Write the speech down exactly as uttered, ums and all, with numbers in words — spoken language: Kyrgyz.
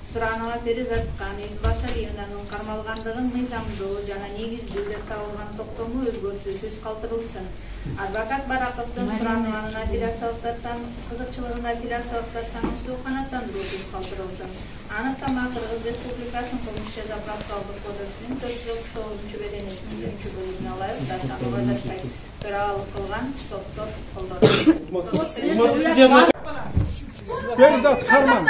Суранова Перизатка Башалиевнанын кармалгандыгын мыйзамдуу жана негиздүү деп табылган токтому өзгөртүүсүз калтырылсын. Адвокат Бараковдун Суранованын апелляциялык кызыкчылыгын апелляциялык тартамысы канааттандыруусуз калтырылсын. Аныктама Кыргыз Республикасынын Кылмыш жаза процессуалдык кодексинин төрт жүз отуз тогузунчу беренесинин үчүнчү бөлүгүнө ылайык Дасанова Жатпай төралык кылган соттор колдонот. Перизат Харман.